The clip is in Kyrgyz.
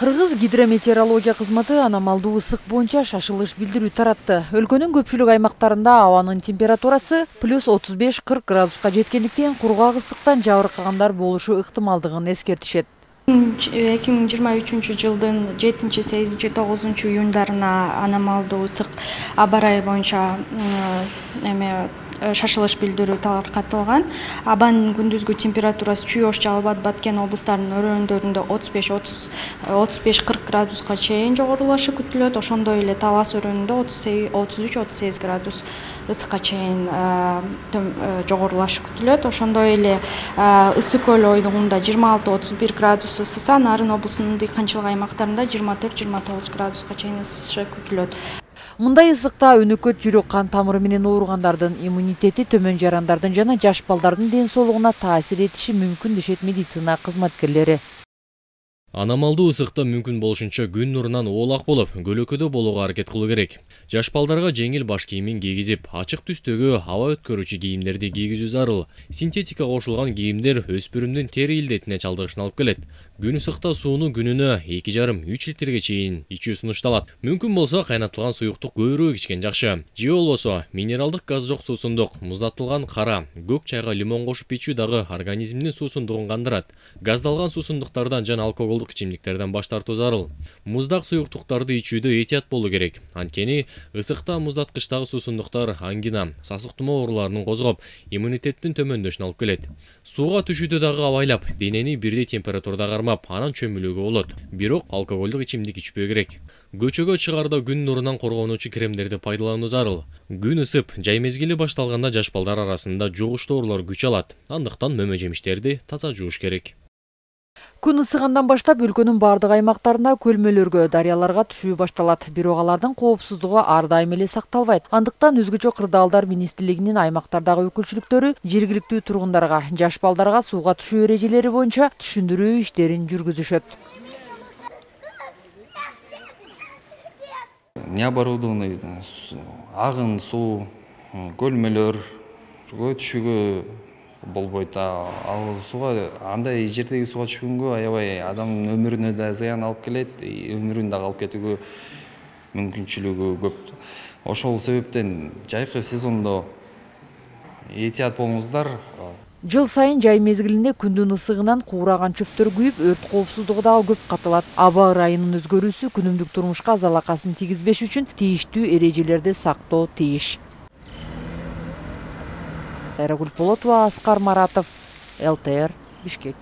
Кыргыз гидрометеорология кызматы аномалдуу ысык боюнча шашылыш билдирүү таратты. Өлкөнүн көпчүлүк аймактарында абанын температурасы плюс 35-40 градуска жеткендиктен кургак ысыктан жабыркагандар болушу ыктымалдыгын эскертишет. 2023 жылдын 7-8-9 июндарына аномалдуу ысык аба ырайы боюнча шашылыш билдирүү таркатылган. Абанын күндүзгү температурасы Чүй-Ош, Жалал Абад, Баткен облустарынын өрөөндөрүндө 35-40 градуска чейин жогорулашы күтүлөт. Ошондой эле Талас өрөөнүндө 33-38 градус ысыкка чейин жогорулашы күтүлөт. Ошондой эле Ысык көл оюлугунда 26-31 градус ысыса, Нарын облусунун дыйканчылык аймактарында 24-29 градуска чейин ысышы күтүлөт. Мындай ысыкта өнөкөт жүрөк кан тамыры менен ооругандардын иммунитети төмөн жарандардын жана жаш балдардын ден соолугуна таасир этиши мүмкүн дешет медицина кызматкерлери. Аномалдуу ысыкта мүмкүн болушунча күн нурунан оолак болуп, көлөкөдө болууга аракет кылуу керек. Жаш балдарга жеңил баш кийимин кийгизип, ачык түстөгү аба өткөрүүчү кийимдерди кийгизүү зарыл. Синтетика кошулган кийимдер өспүрүмдүн тери илдетине чалдыгышына алып келет. Күн ысыкта сууну күнүнө 2,5-3 литрге чейин ичүү сунушталат. Мүмкүн болсо кайнатылган суюктук көбүрөөк ичкен жакшы. Же болбосо минералдык газ жок суусундук, муздатылган кара, көк чайга лимон кошуп ичүү дагы организмдин суусундугун кандырат. Газдалган суусундуктардан жана алкоголдук ичимдиктерден баш тартуу зарыл. Муздак суюктуктарды ичүүдө этият болуу керек. Анткени ысыкта муздаткычтагы суусундуктар ангина, сасык тумоо ооруларынын козгоп, иммунитеттин төмөндөшүнө алып келет. Сууга түшүүдө дагы абайлап, денени бирдей температурада кармап, анан чөмүлүүгө болот. Бирок алкоголдук ичимдик ичпөө керек. Көчөгө чыгаарда күн нурунан коргонуучу кремдерди пайдалануу зарыл. Күн ысып, жай мезгили башталганда жаш балдар арасында жугуштуу оорулар күч алат. Андыктан мөмө жемиштерди таза жууш керек. Күн ысыгандан баштап өлкөнүн бардык аймактарында көлмөлөргө, дарыяларга түшүү башталат. Бирок алардын коопсуздугу ар дайым эле сакталбайт. Андыктан өзгөчө кырдаалдар министрлигинин аймактардагы өкүлчүлүктөрү жергиликтүү тургундарга, жаш балдарга сууга түшүү эрежелери боюнча түшүндүрүү иштерин жүргүзүшөт. Необорудованный агын суу, көлмөлөргө түшүүгө болбойт. Ал сууга, андай жердеги сууга түшкөнгө аябай адамдын өмүрүнө да зыян алып келет, өмүрүн дагы алып кетүүгө мүмкүнчүлүгү көп. Ошол себептен жайкы сезондо этият болуңуздар. Жыл сайын жай мезгилинде күндүн ысыгынан куураган чөптөр күйүп, өрт коопсуздугу дагы көп катылат. Аба ырайынын өзгөрүүсү күнүмдүк турмушка залакасын тийгизбеш үчүн тийиштүү эрежелерди сактоо тийиш. Сайрагүл Полотова, Аскар Маратов, ЛТР, Бишкек.